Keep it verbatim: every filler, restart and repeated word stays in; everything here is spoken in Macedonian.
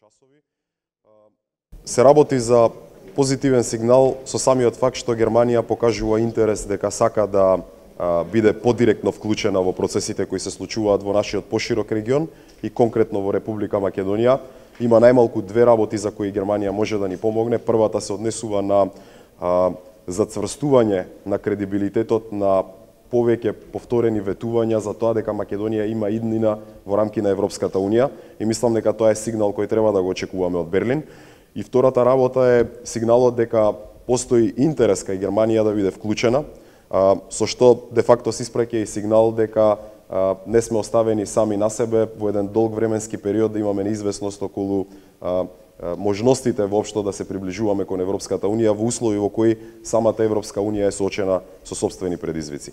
часови. Се работи за позитивен сигнал со самиот факт што Германија покажува интерес дека сака да биде подиректно вклучена во процесите кои се случуваат во нашиот поширок регион и конкретно во Република Македонија. Има најмалку две работи за кои Германија може да ни помогне. Првата се однесува на а, зацврстување на кредибилитетот на повеќе повторени ветувања за тоа дека Македонија има иднина во рамки на Европската Унија и мислам дека тоа е сигнал кој треба да го очекуваме од Берлин. И втората работа е сигналот дека постои интерес кај Германија да биде вклучена, а, со што де факто се испраќа и сигнал дека а, не сме оставени сами на себе во еден долг временски период да имаме неизвестност околу а, можностите воопшто да се приближуваме кон Европската Унија во услови во кои самата Европска Унија е соочена со сопствени предизвици.